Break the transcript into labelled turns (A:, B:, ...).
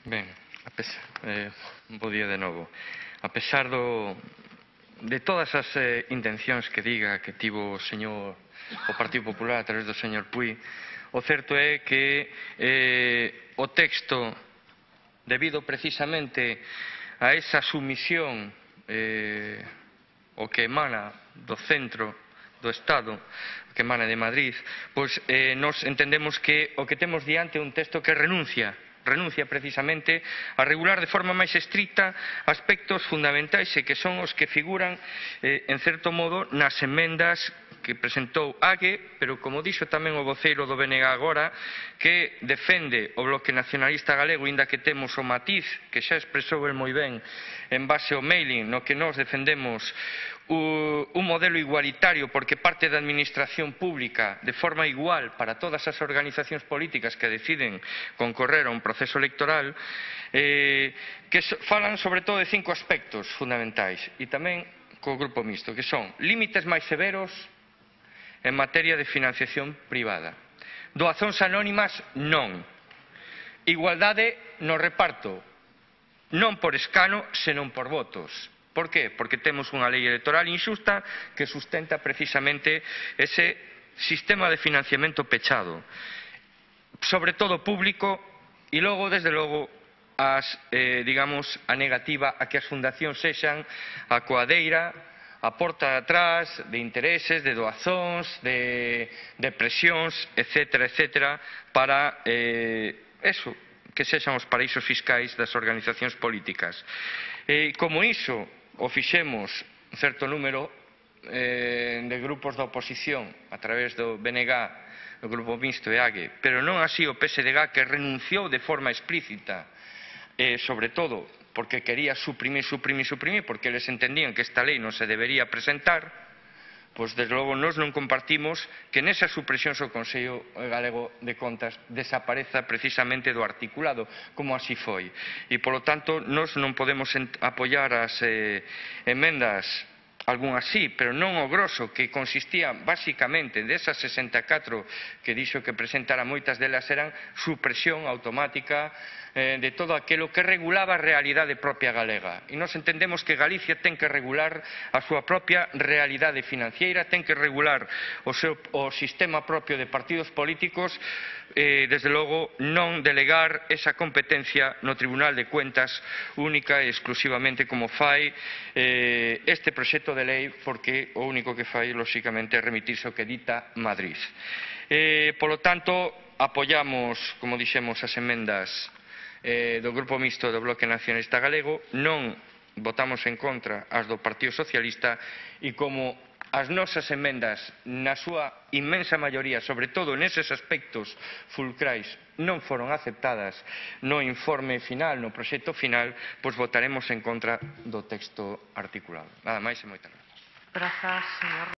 A: Ben, bo día de novo. A pesar de todas as intencións que diga que tivo o Partido Popular a través do señor Puig, o certo é que o texto, debido precisamente a esa sumisión o que emana do centro do Estado, que emana de Madrid, pois nos entendemos que o que temos diante é un texto que renuncia precisamente a regular de forma máis estricta aspectos fundamentais e que son os que figuran, en certo modo, nas emendas que presentou Ague, pero como dixo tamén o voceiro do BNG agora, que defende o Bloque Nacionalista Galego, inda que temos o matiz que xa expresou el moi ben en base ao mailing, no que nós defendemos un modelo igualitario porque parte da administración pública de forma igual para todas as organizacións políticas que deciden concorrer a un proceso electoral, que falan sobre todo de 5 aspectos fundamentais e tamén co grupo mixto, que son límites máis severos en materia de financiación privada, doazóns anónimas non, igualdade no reparto, non por escano senón por votos. Por qué? Porque temos unha lei electoral inxusta que sustenta precisamente ese sistema de financiamento pechado, sobre todo público, e logo, desde logo, digamos, a negativa a que as fundacións sexan a coadeira, a porta de atrás de intereses, de doazóns, de presións, etcétera, para que sexan os paraísos fiscais das organizacións políticas. Como iso o fixemos un certo número de grupos da oposición a través do BNG, do Grupo Mixto e Ague, pero non así o PSDG, que renunciou de forma explícita, sobre todo porque quería suprimir, porque eles entendían que esta lei non se debería presentar, pois, desde logo, nós non compartimos que nesas supresións o Consello Galego de Contas desapareza precisamente do articulado, como así foi. E, polo tanto, nós non podemos apoiar as emendas, algunhas sí, pero non o grosso, que consistía basicamente desas 64 que dixo que presentara, moitas delas eran supresión automática de todo aquilo que regulaba a realidade propia galega. E nós entendemos que Galicia ten que regular a súa propia realidade financiera, ten que regular o sistema propio de partidos políticos, desde logo non delegar esa competencia no Tribunal de Cuentas única e exclusivamente como fai este proxecto de lei, porque o único que fai, lóxicamente, é remitirse ao que dita Madrid. Polo tanto, apoiamos, como dixemos, as emendas do Grupo Mixto do Bloque Nacionalista Galego, non votamos en contra as do Partido Socialista, e como as nosas emendas, na súa inmensa maioría, sobre todo neses aspectos fulcrais, non foron aceptadas no informe final, no proxecto final, pois votaremos en contra do texto articulado. Nada máis e moitas grazas.